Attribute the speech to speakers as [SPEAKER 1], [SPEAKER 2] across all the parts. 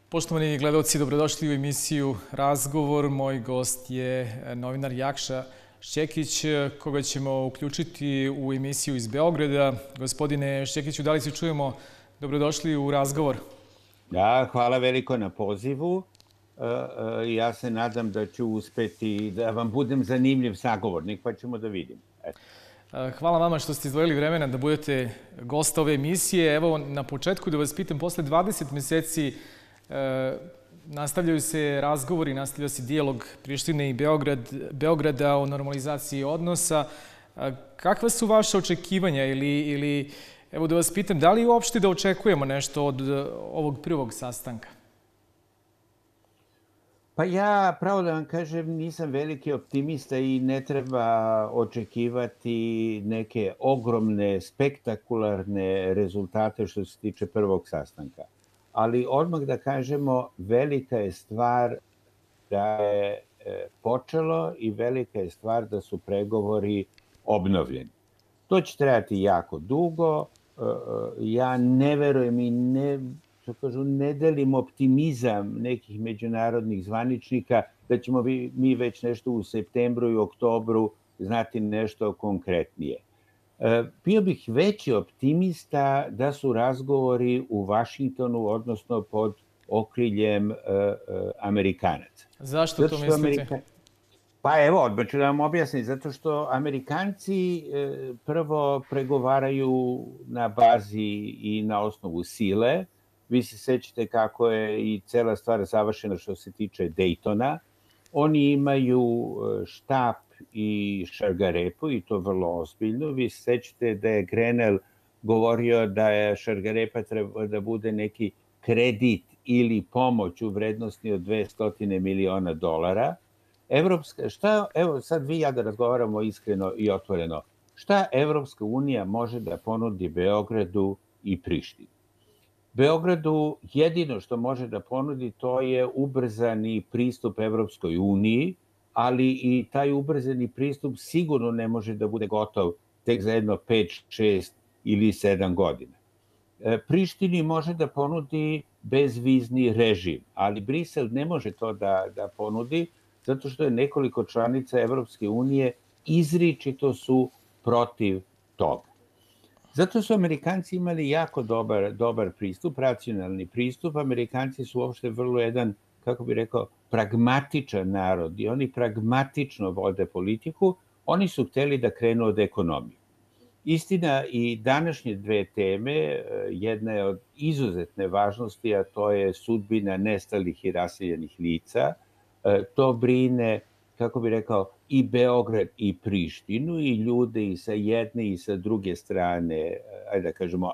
[SPEAKER 1] Poštovani gledalci, dobrodošli u emisiju Razgovor. Moj gost je novinar Jakša Šćekić, koga ćemo uključiti u emisiju iz Beograda. Gospodine Šćekiću, da li se čujemo? Dobrodošli u Razgovor.
[SPEAKER 2] Da, hvala veliko na pozivu. Ja se nadam da ću uspeti da vam budem zanimljiv sagovornik, pa ćemo da vidimo.
[SPEAKER 1] Hvala vama što ste izdvojili vremena da budete gost ove emisije. Evo, na početku da vas pitam, posle 20 meseci nastavljaju se razgovori, nastavlja se dijalog Prištine i Beograda o normalizaciji odnosa. Kakva su vaše očekivanja ili evo da vas pitam, da li uopšte da očekujemo nešto od ovog prvog sastanka?
[SPEAKER 2] Pa ja, pravo da vam kažem, nisam veliki optimista i ne treba očekivati neke ogromne, spektakularne rezultate što se tiče prvog sastanka. Ali odmah da kažemo, velika je stvar da je počelo i velika je stvar da su pregovori obnovljeni. To će trajati jako dugo. Ja ne verujem i ne delim optimizam nekih međunarodnih zvaničnika da ćemo mi već nešto u septembru i oktobru znati nešto konkretnije. Bio bih veći optimista da su razgovori u Vašingtonu, odnosno pod okriljem Amerikanaca.
[SPEAKER 1] Zašto to mislite?
[SPEAKER 2] Pa evo, odmah ću da vam objasnim. Zato što Amerikanci prvo pregovaraju na bazi i na osnovu sile. Vi se sećate kako je i cela stvar završena što se tiče Daytona. Oni imaju štap i šargarepu i to vrlo ozbiljno. Vi se sećate da je Grenell govorio da je šargarepa treba da bude neki kredit ili pomoć u vrednosti od $200 miliona. Evo sad vi i ja da razgovaramo iskreno i otvoreno. Šta Evropska unija može da ponudi Beogradu i Prištini? Beogradu jedino što može da ponudi to je ubrzani pristup Evropskoj uniji, ali i taj ubrzani pristup sigurno ne može da bude gotov tek za jedno 5, 6 ili 7 godina. Prištini može da ponudi bezvizni režim, ali Brisel ne može to da ponudi zato što je nekoliko članica Evropske unije izričito su protiv toga. Zato su Amerikanci imali jako dobar pristup, racionalni pristup. Amerikanci su uopšte vrlo jedan, kako bih rekao, pragmatičan narod i oni pragmatično vode politiku. Oni su hteli da krenu od ekonomije. Istina, i današnje dve teme, jedna je od izuzetne važnosti, a to je sudbina nestalih i raseljenih lica. To brine, kako bih rekao, i Beograd i Prištinu i ljude i sa jedne i sa druge strane, ajde da kažemo,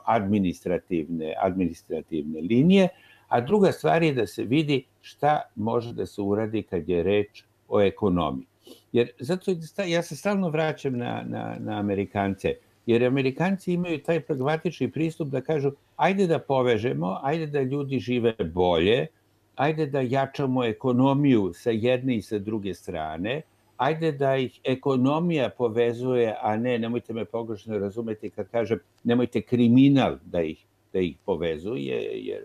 [SPEAKER 2] administrativne linije. A druga stvar je da se vidi šta može da se uradi kad je reč o ekonomiji. Jer zato ja se stalno vraćam na Amerikance, jer Amerikanci imaju taj pragmatični pristup da kažu ajde da povežemo, ajde da ljudi žive bolje, ajde da jačamo ekonomiju sa jedne i sa druge strane, ajde da ih ekonomija povezuje, a nemojte me pogrešno razumeti kad kažem, nemojte kriminal da ih povezuje, jer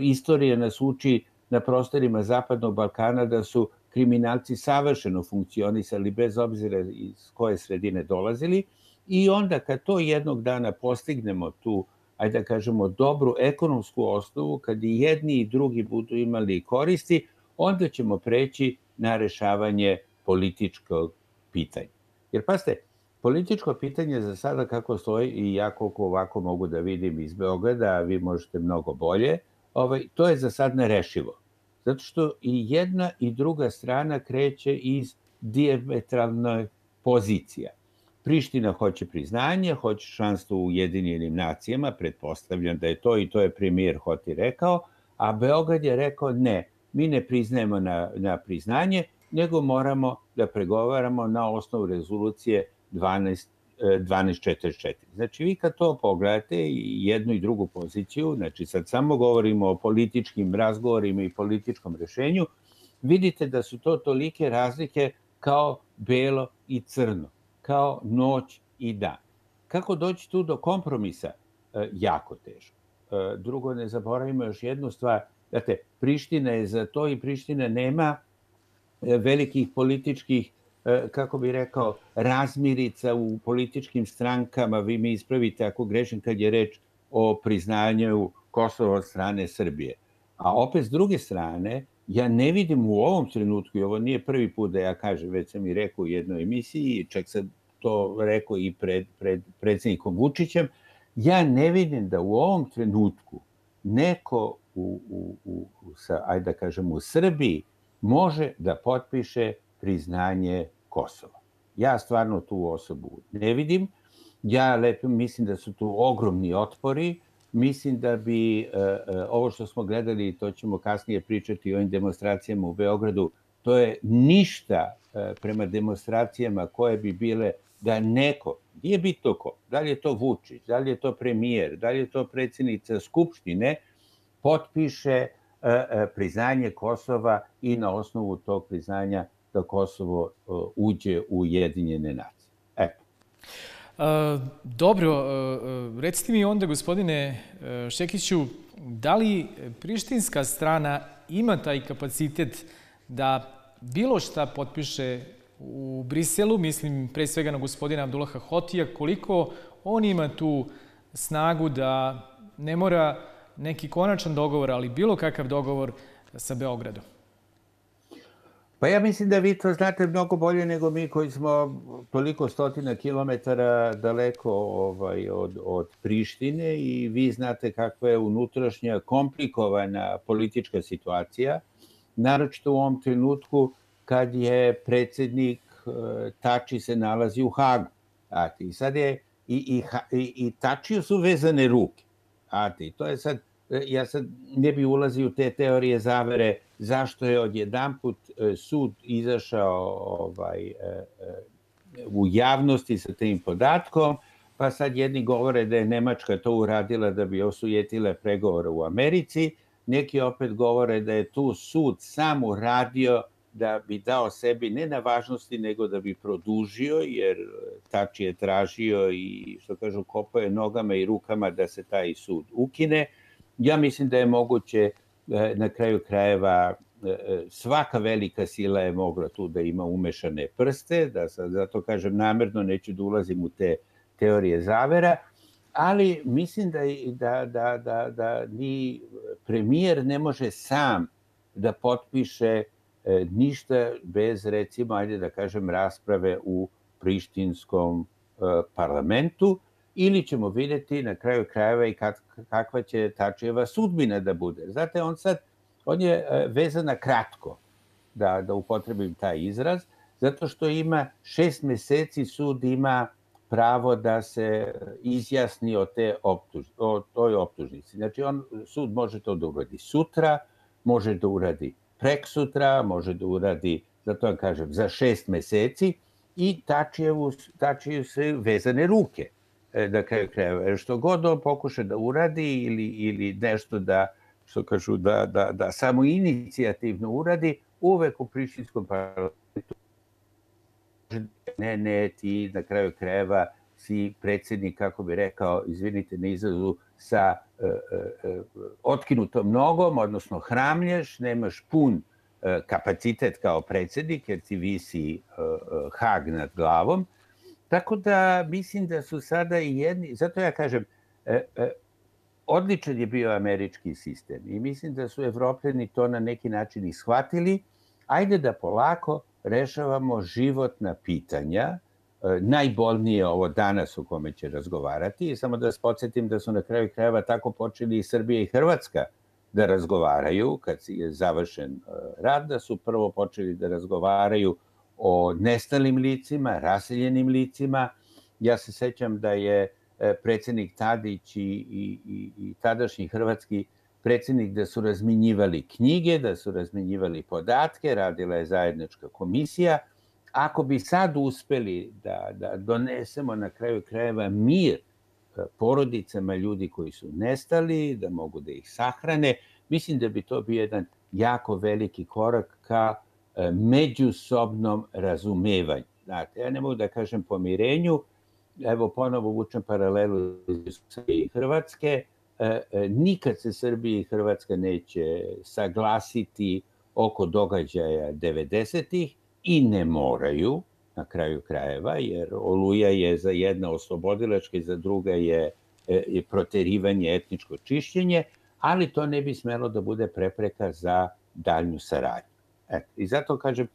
[SPEAKER 2] istorija nas uči na prostorima Zapadnog Balkana da su kriminalci savršeno funkcionisali bez obzira iz koje sredine dolazili i onda kad to jednog dana postignemo tu, ajde da kažemo, dobru ekonomsku osnovu, kad i jedni i drugi budu imali koristi, onda ćemo preći na rešavanje političkog pitanja. Jer pazite, političko pitanje za sada kako stoji, i ja koliko ovako mogu da vidim iz Beograda, a vi možete mnogo bolje, to je za sad nerešivo. Zato što i jedna i druga strana kreće iz dijametralne pozicija. Priština hoće priznanje, hoće članstvo u Ujedinjenim nacijama, pretpostavljam da je to i to je premijer Hoti rekao, a Beograd je rekao ne, mi ne priznajemo na priznanje, nego moramo da pregovaramo na osnovu rezolucije 1244. Znači vi kad to pogledate jednu i drugu poziciju, znači sad samo govorimo o političkim razgovorima i političkom rešenju, vidite da su to tolike razlike kao belo i crno, kao noć i dan. Kako doći tu do kompromisa? Jako teško. Drugo, ne zaboravimo još jednu stvar. Znate, Priština je za to i Priština nema velikih političkih, kako bi rekao, razmirica u političkim strankama. Vi mi ispravite ako grešim kad je reč o priznanju Kosova od strane Srbije. A opet, s druge strane, ja ne vidim u ovom trenutku, i ovo nije prvi put da ja kažem, već sam i rekao u jednoj emisiji, čak sam to rekao i pred predsjednikom Vučićem, ja ne vidim da u ovom trenutku neko ajde da kažem, u Srbiji može da potpiše priznanje Kosova. Ja stvarno tu osobu ne vidim. Ja mislim da su tu ogromni otpori. Mislim da bi ovo što smo gledali, to ćemo kasnije pričati o ovim demonstracijama u Beogradu, to je ništa prema demonstracijama koje bi bile da neko, nije bitno ko, da li je to Vučić, da li je to premijer, da li je to predsjednica Skupštine, potpiše priznanje Kosova i na osnovu tog priznanja da Kosovo uđe u Ujedinjene nacije. Eto.
[SPEAKER 1] Dobro, recite mi onda, gospodine Šekiću, da li prištinska strana ima taj kapacitet da bilo šta potpiše u Briselu, mislim pre svega na gospodina Abdullaha Hotija, koliko on ima tu snagu da ne mora neki konačan dogovor, ali bilo kakav dogovor sa Beogradom?
[SPEAKER 2] Pa ja mislim da vi to znate mnogo bolje nego mi koji smo toliko stotina kilometara daleko od Prištine i vi znate kakva je unutrašnja komplikovana politička situacija, naročito u ovom trenutku kad je predsjednik Tači se nalazi u Hagu. I sad je i Tačiju su vezane ruke. To je sad, ja sad ne bi ulazio u te teorije zavere zašto je odjedanput sud izašao u javnosti sa tim podatkom, pa sad jedni govore da je Nemačka to uradila da bi osujetila pregovore u Americi, neki opet govore da je tu sud sam uradio da bi dao sebi ne na važnosti, nego da bi produžio, jer Tači je tražio i, što kažu, kopao je nogama i rukama da se taj sud ukine. Ja mislim da je moguće, na kraju krajeva, svaka velika sila je mogla tu da ima umešane prste, zato kažem namerno, neću da ulazim u te teorije zavera, ali mislim da ni premijer ne može sam da potpiše ništa bez, recimo, ajde da kažem, rasprave u prištinskom parlamentu, ili ćemo vidjeti na kraju krajeva i kakva će Tačijeva sudbina da bude. Znate, on je vezan na kratko, da upotrebim taj izraz, zato što ima 6 meseci sud ima pravo da se izjasni o toj optužnici. Znači, sud može to da uradi sutra, može da uradi preksutra, može da uradi, zato vam kažem, za 6 meseci i Tačiju se vezane ruke. Da kraju krajeva, što god on pokuša da uradi ili nešto da, što kažu, da samo inicijativno uradi, uvek u prištinskom parlamentu ne, ti na kraju krajeva si predsjednik, kako bi rekao, izvinite na izrazu, sa otkinutom nogom, odnosno hramlješ, nemaš pun kapacitet kao predsjednik, jer ti visi Hag nad glavom. Tako da mislim da su sada i jedni, zato ja kažem, odličan je bio američki sistem i mislim da su Evropljani to na neki način i shvatili. Ajde da polako rešavamo životna pitanja, najbolnije ovo danas o kome će razgovarati. Samo da vas podsjetim da su na kraju krajeva tako počeli i Srbija i Hrvatska da razgovaraju kad je završen rat, da su prvo počeli da razgovaraju o nestalim licima, raseljenim licima. Ja se sećam da je predsjednik Tadić i tadašnji hrvatski predsjednik da su razminjivali knjige, da su razminjivali podatke, radila je zajednička komisija. Ako bi sad uspeli da donesemo na kraju krajeva mir porodicama ljudi koji su nestali, da mogu da ih sahrane, mislim da bi to bio jedan jako veliki korak ka međusobnom razumevanju. Znate, ja ne mogu da kažem pomirenju, evo ponovo vučem paralelu iz Hrvatske, nikad se Srbija i Hrvatska neće saglasiti oko događaja 90-ih i ne moraju, na kraju krajeva, jer Oluja je za jedna oslobodilačka i za druga je proterivanje, etničko čišćenje, ali to ne bi smelo da bude prepreka za daljnju saradnju. I zato kažem,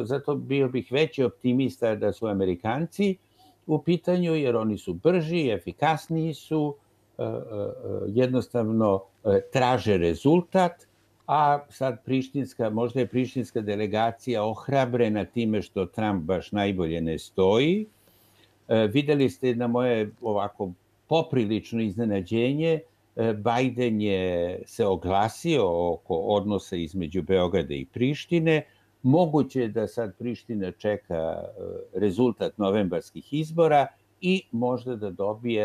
[SPEAKER 2] zato bio bih veći optimista da su Amerikanci u pitanju, jer oni su brži, efikasniji su, jednostavno traže rezultat, a sad možda je prištinska delegacija ohrabrena time što Trump baš najbolje ne stoji. Videli ste na moje ovako poprilično iznenađenje, Biden je se oglasio oko odnosa između Beograda i Prištine. Moguće je da sad Priština čeka rezultat novembarskih izbora i možda da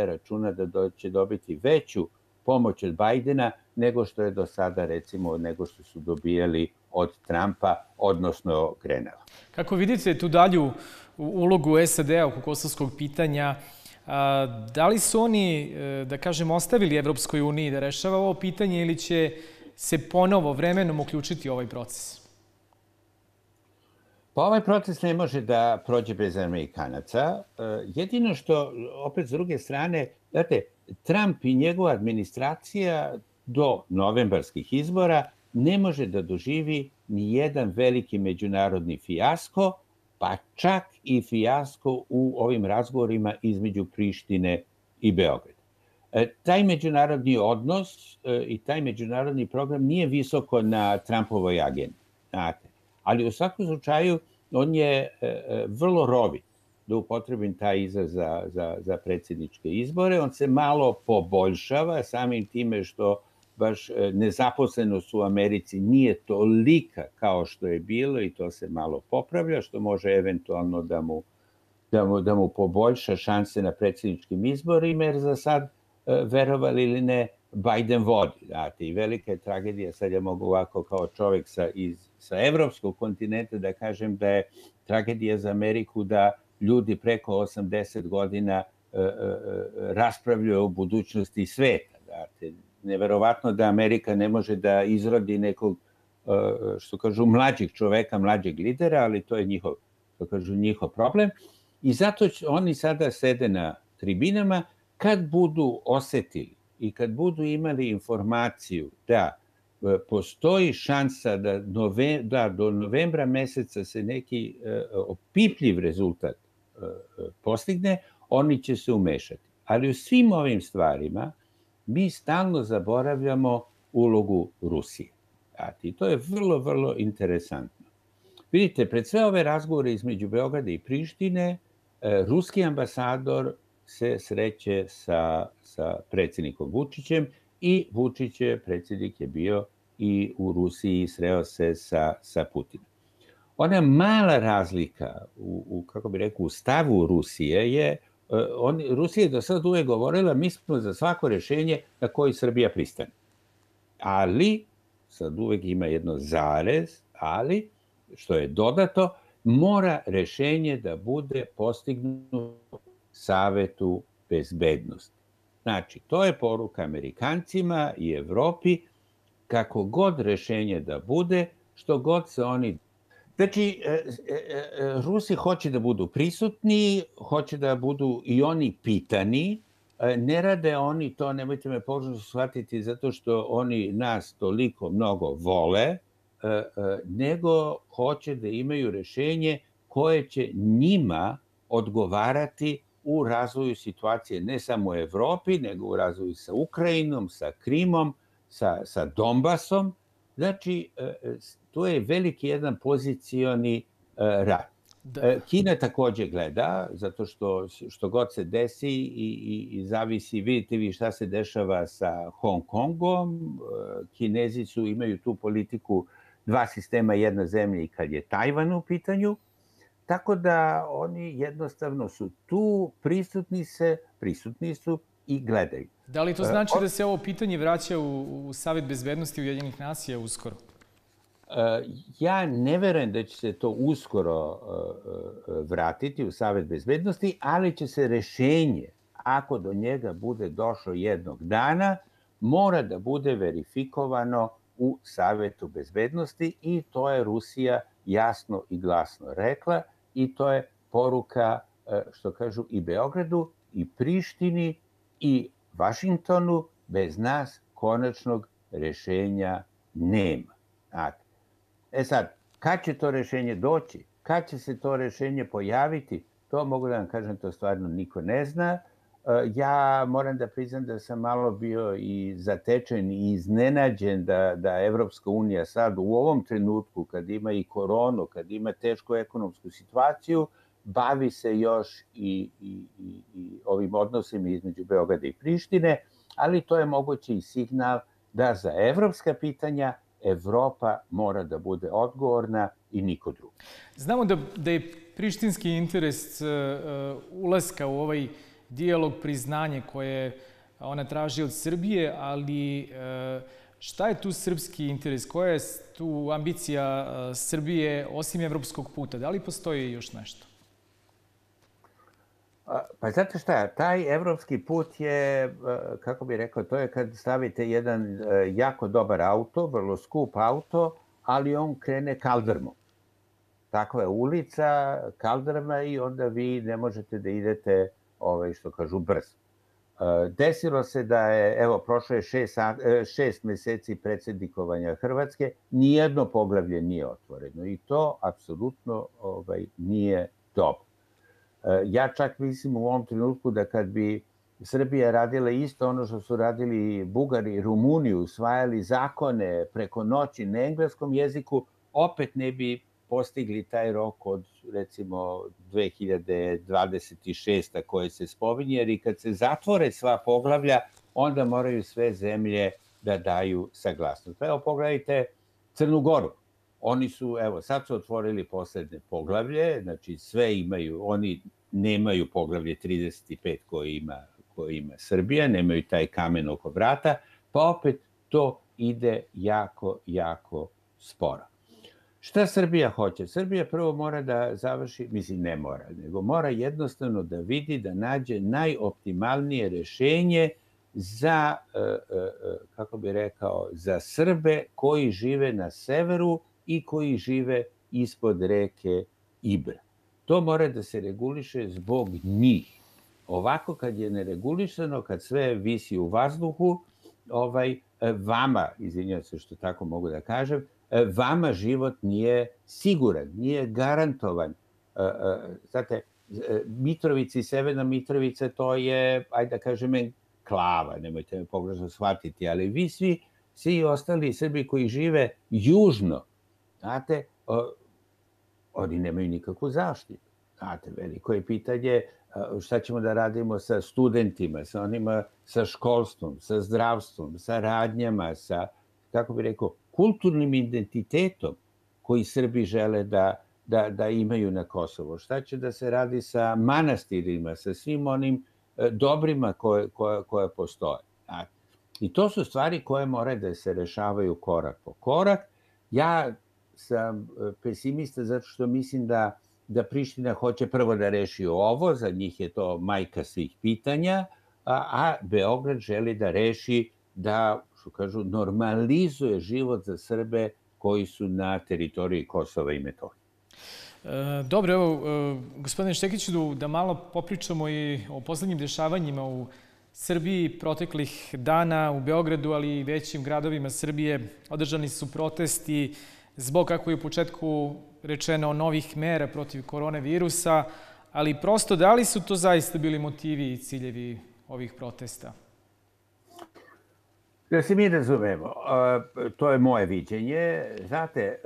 [SPEAKER 2] računa da će dobiti veću pomoć od Bajdena nego što je do sada, recimo, nego što su dobijali od Trumpa, odnosno Grenela.
[SPEAKER 1] Kako vidite tu dalju ulogu SAD-a oko kosovskog pitanja, da li su oni, da kažem, ostavili Evropskoj uniji da rešava ovo pitanje ili će se ponovo vremenom uključiti u ovaj proces?
[SPEAKER 2] Pa ovaj proces ne može da prođe bez Amerikanaca. Jedino što, opet s druge strane, znate, Trump i njegova administracija do novembarskih izbora ne može da doživi ni jedan veliki međunarodni fijasko, pa čak i fijasko u ovim razgovorima između Prištine i Beograda. Taj međunarodni odnos i taj međunarodni program nije visoko na Trumpovoj agendi, znate. Ali u svakom slučaju on je vrlo rovit, da upotrebim taj izraz za predsjedničke izbore. On se malo poboljšava samim time što baš nezaposlenost u Americi nije tolika kao što je bilo i to se malo popravlja, što može eventualno da mu poboljša šanse na predsjedničkim izborima, jer za sad, verovali ili ne, Biden vodi. Znate, i velika je tragedija, sad ja mogu ovako kao čovjek sa evropskog kontinenta da kažem da je tragedija za Ameriku da ljudi preko 80 godina raspravljaju o budućnosti sveta. Znate, neverovatno da Amerika ne može da izrodi nekog, što kažu, mlađeg čoveka, mlađeg lidera, ali to je njihov problem. I zato oni sada sede na tribinama. Kad budu osetili i kad budu imali informaciju da postoji šansa da do novembra meseca se neki opipljiv rezultat postigne, oni će se umešati. Ali u svim ovim stvarima mi stalno zaboravljamo ulogu Rusije. I to je vrlo, vrlo interesantno. Vidite, pred sve ove razgovore između Beograda i Prištine, ruski ambasador se sreće sa predsjednikom Vučićem i predsjednik je bio i u Rusiji, sreo se sa Putinom. Ona mala razlika u stavu Rusije je, Rusija je do sada uvek govorila mi smo za svako rešenje na koji Srbija pristane. Ali, sad uvek ima jedno zarez, ali, što je dodato, mora rešenje da bude postignuto Savetu bezbednosti. Znači, to je poruka Amerikancima i Evropi, kako god rešenje da bude, što god se oni... Znači, Rusi hoće da budu prisutni, hoće da budu i oni pitani, ne rade oni to, nemojte me pogrešno shvatiti, zato što oni nas toliko mnogo vole, nego hoće da imaju rešenje koje će njima odgovarati u razvoju situacije ne samo u Evropi, nego u razvoju sa Ukrajinom, sa Krimom, sa Donbasom. Znači, to je veliki jedan pozicioni rad. Kina takođe gleda, zato što god se desi i zavisi, vidite vi šta se dešava sa Hong Kongom. Kinezi imaju tu politiku dva sistema, jedna zemlja i kad je Tajvan u pitanju. Tako da oni jednostavno su tu, prisutni su i gledaju.
[SPEAKER 1] Da li to znači da se ovo pitanje vraća u Savet bezbednosti Ujedinjenih nacija uskoro?
[SPEAKER 2] Ja ne verujem da će se to uskoro vratiti u Savet bezbednosti, ali će se rešenje, ako do njega bude došlo jednog dana, mora da bude verifikovano u Savetu bezbednosti i to je Rusija jasno i glasno rekla i to je poruka, što kažu, i Beogradu i Prištini i Vašingtonu, bez nas konačnog rešenja nema. Sad, kad će to rešenje doći, kad će se to rešenje pojaviti, to mogu da vam kažem, to stvarno niko ne zna. Ja moram da priznam da sam malo bio i zatečen i iznenađen da Evropska unija sad u ovom trenutku, kad ima i koronu, kad ima tešku ekonomsku situaciju, bavi se još i ovim odnosima između Beograda i Prištine, ali to je moguće i signal da za evropska pitanja Evropa mora da bude odgovorna i niko drugi.
[SPEAKER 1] Znamo da je prištinski interes ulaska u ovaj dijalog priznanje koje ona traži od Srbije, ali šta je tu srpski interes? Koja je tu ambicija Srbije osim evropskog puta? Da li postoji još nešto?
[SPEAKER 2] Pa znate šta, taj evropski put je, kako bih rekao, to je kad stavite jedan jako dobar auto, vrlo skup auto, ali on krene kaldrmom. Takva je ulica, kaldrma i onda vi ne možete da idete, što kažu, brzo. Desilo se da je, evo, prošlo je 6 meseci predsjednikovanja Hrvatske, nijedno poglavlje nije otvoreno i to apsolutno nije dobro. Ja čak mislim u ovom trenutku da kad bi Srbija radila isto ono što su radili Bugari i Rumuni, usvajali zakone preko noći na engleskom jeziku, opet ne bi postigli taj rok od, recimo, 2026. koje se spominje, jer i kad se zatvore sva poglavlja, onda moraju sve zemlje da daju saglasnost. Evo, pogledajte Crnu Goru. Oni su, evo, sad su otvorili poslednje poglavlje, znači sve imaju, oni nemaju poglavlje 35 koje ima Srbija, nemaju taj kamen oko vrata, pa opet to ide jako, jako sporo. Šta Srbija hoće? Srbija prvo mora da završi, mislim ne mora, nego mora jednostavno da vidi, da nađe najoptimalnije rešenje za, kako bih rekao, za Srbe koji žive na severu i koji žive ispod reke Ibra. To mora da se reguliše zbog njih. Ovako kad je neregulisano, kad sve visi u vazduhu, vama, izvinjavam se što tako mogu da kažem, vama život nije siguran, nije garantovan. Znate, Mitrovica i Severna Mitrovica, to je, ajde da kažem, enklava, nemojte me pogrešno shvatiti, ali vi svi ostali Srbi koji žive južno, znate, oni nemaju nikakvu zaštitu. Znate, veliko je pitanje šta ćemo da radimo sa studentima, sa onima, sa školstvom, sa zdravstvom, sa radnjama, sa, kako bih rekao, kulturnim identitetom koji Srbi žele da imaju na Kosovo. Šta će da se radi sa manastirima, sa svim onim dobrima koje postoje. I to su stvari koje moraju da se rešavaju korak po korak. Ja sam pesimista zato što mislim da Priština hoće prvo da reši ovo, za njih je to majka svih pitanja, a Beograd želi da reši, da, što kažu, normalizuje život za Srbe koji su na teritoriji Kosova i Metohije.
[SPEAKER 1] Dobro, evo, gospodine Štekiću, da malo popričamo i o poslednjim dešavanjima u Srbiji. Proteklih dana u Beogradu, ali i većim gradovima Srbije održani su protesti zbog, kako je u početku rečeno, novih mera protiv koronavirusa, ali prosto da li su to zaista bili motivi i ciljevi ovih protesta?
[SPEAKER 2] Da se mi razumemo, to je moje viđenje. Znate,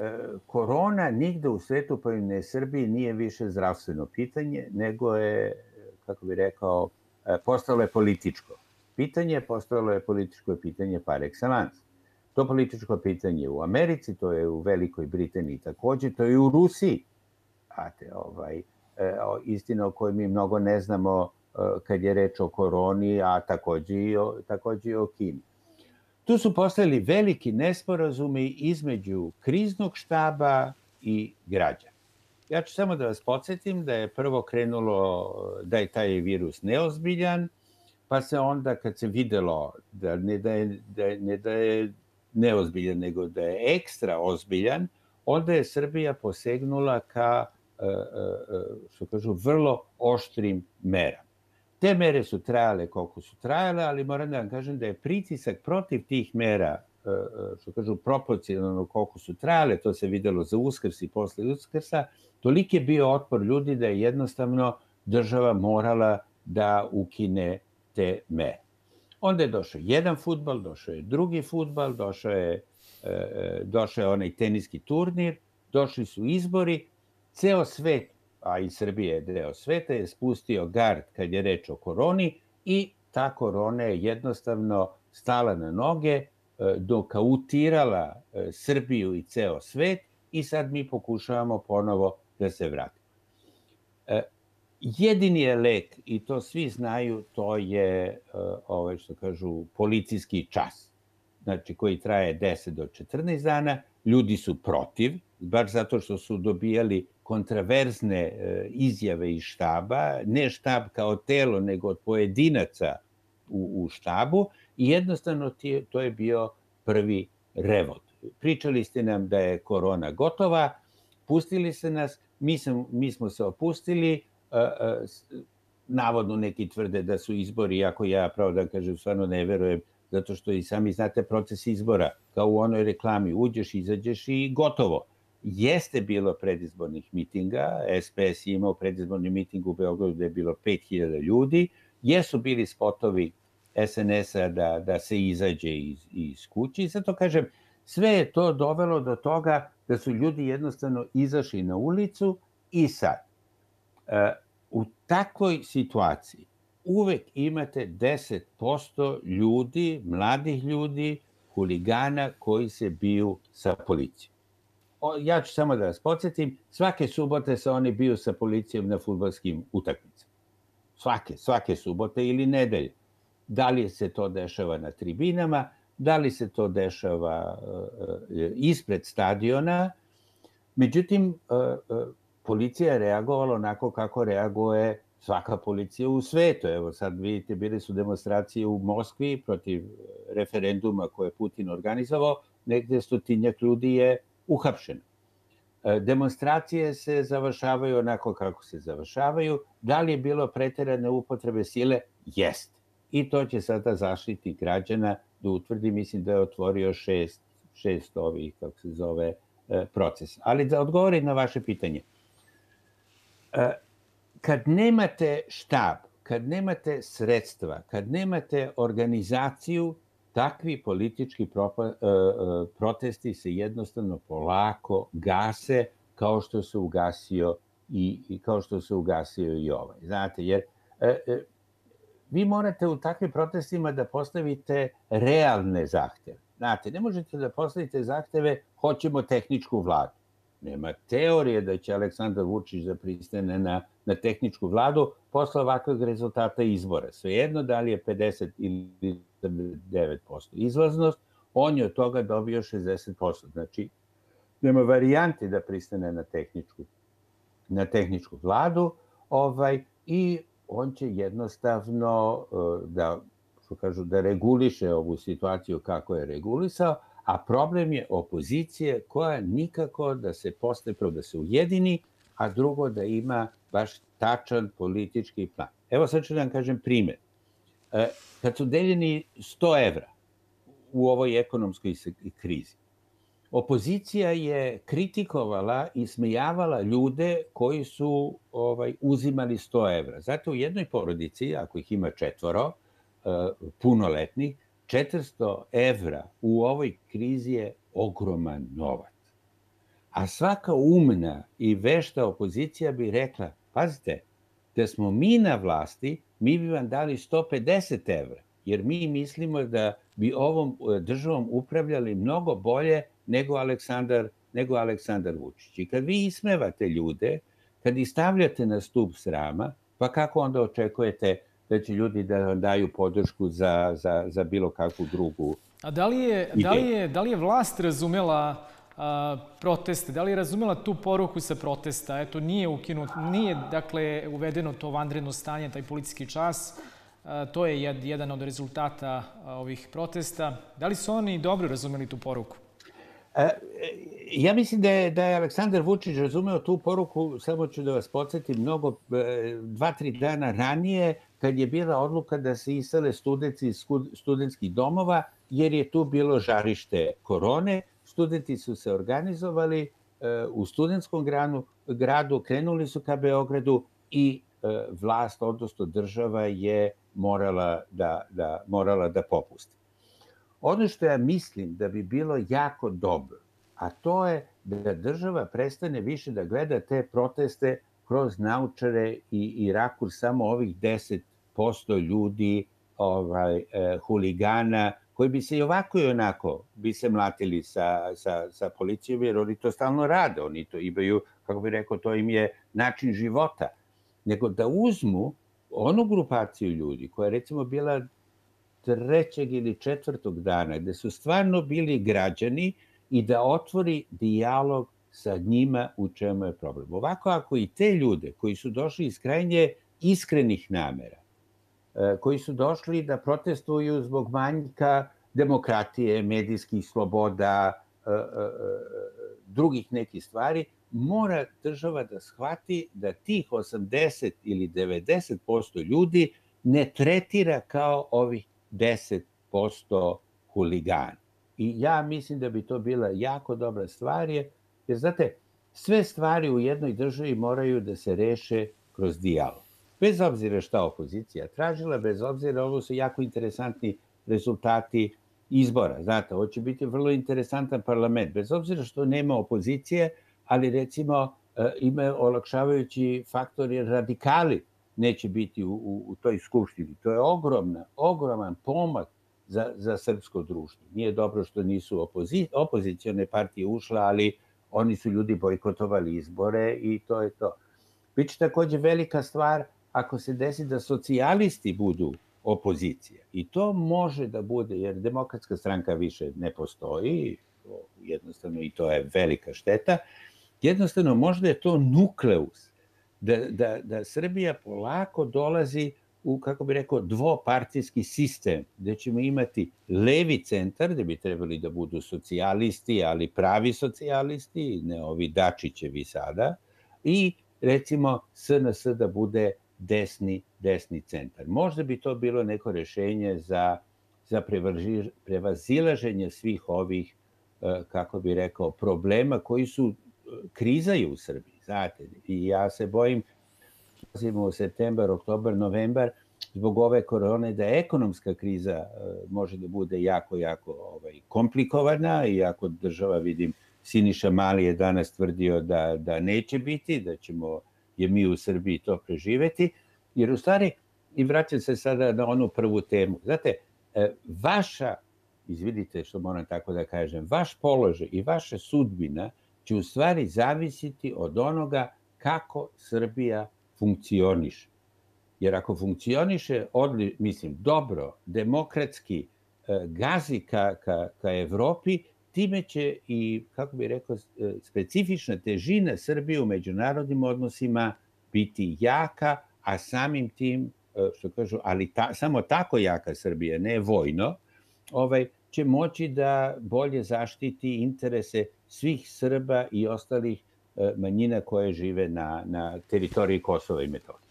[SPEAKER 2] korona nigde u svetu, pa i ne Srbiji, nije više zdravstveno pitanje, nego je, kako bih rekao, postalo je političko pitanje, postalo je političko pitanje par excellence. To političko pitanje u Americi, to je u Velikoj Britaniji takođe, to je u Rusiji. Znate, istina o kojoj mi mnogo ne znamo kad je reč o koroni, a takođe i o Kini. Tu su postojali veliki nesporazumi između kriznog štaba i građana. Ja ću samo da vas podsjetim da je prvo krenulo da je taj virus neozbiljan, pa se onda kad se videlo da da je neozbiljan, nego da je ekstra ozbiljan, onda je Srbija posegnula ka, što kažu, vrlo oštrim merama. Te mere su trajale koliko su trajale, ali moram da vam kažem da je pritisak protiv tih mera, što kažu, proporcionalno koliko su trajale, to se videlo za Uskrs i posle Uskrsa, toliki je bio otpor ljudi da je jednostavno država morala da ukine te mere. Onda je došao jedan fudbal, došao je drugi fudbal, došao je onaj teniski turnir, došli su izbori, ceo svet, a i Srbije je deo sveta, je spustio gard kad je reč o koroni i ta korona je jednostavno stala na noge, dokautirala Srbiju i ceo svet i sad mi pokušavamo ponovo da se vratimo. Jedini je lek, i to svi znaju, to je, što kažu, policijski čas. Znači, koji traje 10 do 14 dana. Ljudi su protiv, baš zato što su dobijali kontraverzne izjave iz štaba, ne štab kao telo, nego od pojedinaca u štabu, i jednostavno to je bio prvi revolt. Pričali ste nam da je korona gotova, pustili ste nas, mi smo se opustili, navodno neki tvrde da su izbori, iako ja, pravo da kažem, stvarno ne verujem, zato što i sami znate proces izbora, kao u onoj reklami, uđeš, izađeš i gotovo. Jeste bilo predizbornih mitinga, SPS je imao predizborni miting u Beogradu gde je bilo 5000 ljudi, jesu bili spotovi SNS-a da se izađe iz kući, zato kažem, sve je to dovelo do toga da su ljudi jednostavno izašli na ulicu i sad, u takvoj situaciji uvek imate 10% ljudi, mladih ljudi, huligana koji se biju sa policijom. Ja ću samo da vas podsjetim, svake subote se oni biju sa policijom na fudbalskim utakmicama. Svake subote ili nedelje. Da li se to dešava na tribinama, da li se to dešava ispred stadiona. Međutim, policija je reagovala onako kako reaguje svaka policija u svetu. Evo sad vidite, bili su demonstracije u Moskvi protiv referenduma koje je Putin organizovao, negde 100 ljudi je uhapšeno. Demonstracije se završavaju onako kako se završavaju. Da li je bilo preterane upotrebe sile? Jeste. I to će sada Zaštitnik građana da utvrdi, mislim da je otvorio šest ovih, kako se zove, procesa. Ali da odgovorim na vaše pitanje. Kad nemate štab, kad nemate sredstva, kad nemate organizaciju, takvi politički protesti se jednostavno polako gase, kao što se ugasio i ovaj. Znate, jer vi morate u takvim protestima da postavite realne zahteve. Znate, ne možete da postavite zahteve hoćemo tehničku vladu. Nema teorije da će Aleksandar Vučić da pristane na tehničku vladu posle ovakvog rezultata izbora. Svejedno da li je 50 ili 9% izlaznost, on je od toga dobio 60%. Znači, nema varijante da pristane na tehničku vladu i on će jednostavno da reguliše ovu situaciju kako je regulisao, a problem je opozicije koja nikako da se prvo da se ujedini, a drugo da ima baš tačan politički plan. Evo sad ću da vam kažem primjer. Kad su deljeni 100 evra u ovoj ekonomskoj krizi, opozicija je kritikovala i smejavala ljude koji su uzimali 100 evra. Zato u jednoj porodici, ako ih ima 4 punoletnih, 400 evra u ovoj krizi je ogroman novac. A svaka umna i vešta opozicija bi rekla, pazite, da smo mi na vlasti, mi bi vam dali 150 evra, jer mi mislimo da bi ovom državom upravljali mnogo bolje nego Aleksandar Vučić. I kad vi ismevate ljude, kad ih stavljate na stub srama, pa kako onda očekujete da će ljudi da vam daju podršku za bilo kakvu drugu
[SPEAKER 1] A da li je vlast razumela proteste? Da li je razumela tu poruku sa protesta? Eto, nije dakle, uvedeno to vanredno stanje, taj policijski čas. To je jedan od rezultata ovih protesta. Da li su oni dobro razumeli tu poruku?
[SPEAKER 2] Ja mislim da je Aleksandar Vučić razumeo tu poruku, samo ću da vas podsjetim, 2-3 dana ranije, kad je bila odluka da se isele studenti iz studentskih domova, jer je tu bilo žarište korone. Studenti su se organizovali u studentskom gradu, krenuli su ka Beogradu i vlast, odnosno država, je morala da popusti. Ono što ja mislim da bi bilo jako dobro, a to je da država prestane više da gleda te proteste kroz naočare i rakurs samo ovih 10% ljudi, huligana, koji bi se i ovako i onako bi se mlatili sa policijom, jer oni to stalno rade, oni to imaju, kako bih rekao, to im je način života. Nego da uzmu onu grupaciju ljudi koja je recimo bila 3. ili 4. dana, gde su stvarno bili građani, i da otvori dijalog sa njima u čemu je problem. Ovako, ako i te ljude koji su došli iz krajnje iskrenih namera, koji su došli da protestuju zbog manjka demokratije, medijskih sloboda, drugih nekih stvari, mora država da shvati da tih 80 ili 90% ljudi ne tretira kao ovih 10% huligana. I ja mislim da bi to bila jako dobra stvar, jer znate, sve stvari u jednoj državi moraju da se reše kroz dijalog. Bez obzira šta opozicija tražila, bez obzira, ovo su jako interesantni rezultati izbora. Znate, ovo će biti vrlo interesantan parlament, bez obzira što nema opozicije, ali recimo ima olakšavajući faktor jer radikali neće biti u toj skupštini. To je ogroman pomak za srpsko društvo. Nije dobro što nisu opozicione partije ušle, ali oni su ljudi bojkotovali izbore i to je to. Biće takođe velika stvar ako se desi da socijalisti budu opozicija. I to može da bude, jer Demokratska stranka više ne postoji, jednostavno, i to je velika šteta. Jednostavno, možda je to nukleus da Srbija polako dolazi u, kako bi rekao, dvopartijski sistem, gde ćemo imati levi centar, gde bi trebali da budu socijalisti, ali pravi socijalisti, ne ovi Dačićevi sada, i recimo SNS da bude desni centar. Možda bi to bilo neko rešenje za prevazilaženje svih ovih, kako bi rekao, problema koji su krizaju u Srbiji, znate, i ja se bojim, u septembar, oktobar, novembar, zbog ove korone, da ekonomska kriza može da bude jako komplikovana, iako država, vidim, Siniša Mali je danas tvrdio da neće biti, da ćemo je mi u Srbiji to preživeti, jer u stvari, i vraćam se sada na onu prvu temu, znate, vaša, izvidite što moram tako da kažem, vaš položaj i vaša sudbina će u stvari zavisiti od onoga kako Srbija funkcioniše. Jer ako funkcioniše, dobro, demokratski, gazi ka Evropi, time će i, kako bih rekao, specifična težina Srbije u međunarodnim odnosima biti jaka, a samim tim, što kažu, ali samo tako jaka Srbija, ne vojno, će moći da bolje zaštiti interese svih Srba i ostalih manjina koje žive na teritoriji Kosova i Metohije.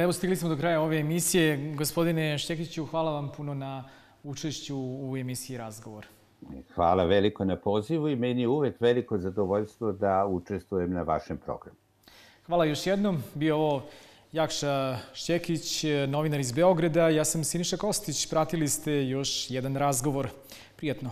[SPEAKER 1] Evo, stigli smo do kraja ove emisije. Gospodine Šćekiću, hvala vam puno na učešću u emisiji Razgovor.
[SPEAKER 2] Hvala veliko na pozivu i meni je uvek veliko zadovoljstvo da učestvujem na vašem programu.
[SPEAKER 1] Hvala još jednom. Bio ovo Jakša Šćekić, novinar iz Beograda. Ja sam Siniša Kostić. Pratili ste još jedan razgovor. Prijatno.